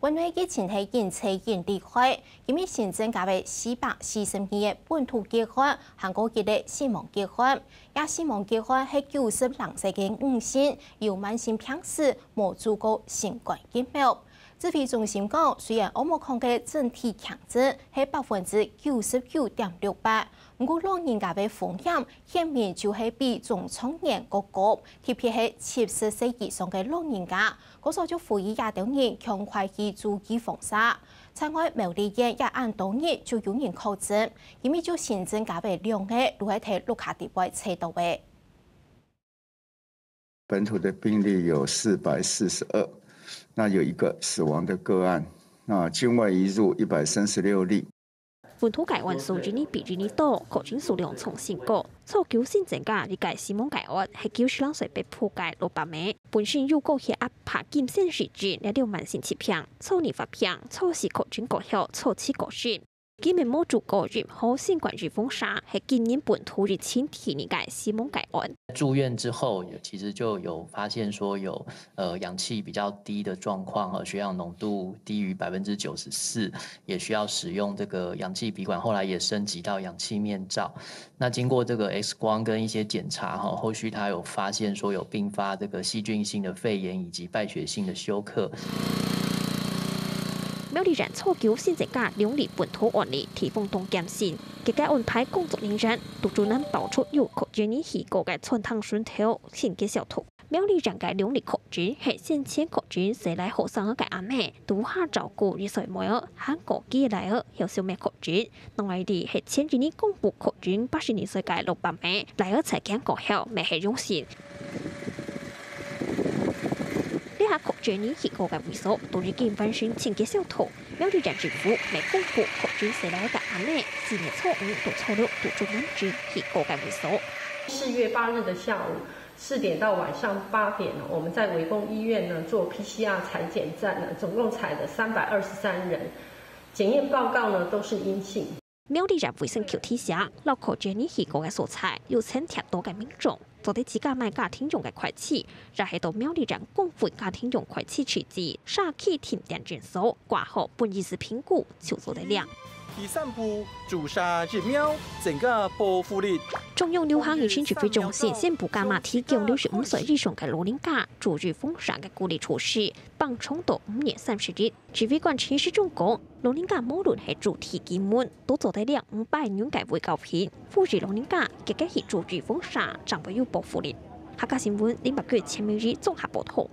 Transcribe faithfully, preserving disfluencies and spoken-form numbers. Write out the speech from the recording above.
國內疫情係緊趨緊厲害，今日新增加了四百四十二个本土個案，還過一个死亡個案。這死亡個案係九十零歲个女性，有慢性病史，無注過新冠疫苗。指揮中心講，雖然奧密克戎个整體輕症係百分之九十九點六八，毋過老人家个風險顯明就係比中壯年過高，特別係七十歲以上个老人家。故所就呼籲這兜人趕快去注預防射。另外，苗栗縣也恁多日就有人確診，今日就新增加了兩个，就係在屋下底背揣著个。 本土的病例有四百四十二，那有一个死亡的个案，那境外移入一百三十六例。本土個案數一日比一日多，確診數量創新高。初九新增加一个死亡個案，係九十零歲北埔个老伯姆，本身有高血壓、帕金森氏症這兜慢性疾病，初二發病，初四確診過後，初七過身。 佢乜無注過任何新冠預防射，係今年本土疫情第二个死亡個案。住院之後，其實就有發現說有呃氧氣比較低的狀況，呃血氧濃度低於百分之九十四，也需要使用這個氧氣鼻管，後來也升級到氧氣面罩。那經過這個X光跟一些檢查，哈，後續他有發現說有併發這個細菌性的肺炎以及敗血性的休克。 苗栗縣初九新增加兩例本土案例，地方當擔心。佢个安排工作人員，堵住難包出有確診人士个餐廳脣頭，清潔消毒。苗栗縣个兩例確診係先前確診細倈後生个阿姆，在屋下照顧一歲妹仔，還過佢倈仔有小妹確診。另外一例係前一日公布確診八十二歲个老伯姆，倈仔採檢過後，乜係陽性。 這下確診人士个位所都已經完成清潔消毒。苗栗縣政府乜公布確診細倈个阿姆，四月初五到初六都做完整佢个位所。四月八日的下午四点到晚上八点呢，我们在围攻医院呢做PCR采检站呢，总共采了三百二十三人，检验报告呢都是阴性。 苗栗县卫生局提醒，摎確診人士个所在有曾貼到个民眾，做得自家買家庭用个筷子，也係到苗栗縣公分家庭用筷子試試，社區定點診所掛號辦醫師評估就做得了。第三步，注射疫苗，增加保護力。中央流行疫情指揮中心宣布加碼提供六十五歲以上个老人家注預防射个鼓勵措施，放長到五月三十日。指揮官陳時中講，老人家無論係住佇幾遠，都做得領五百元个衛教品，呼籲老人家積極去注預防射，正會有保護力。客家新聞林百月、陳明儀綜合報導。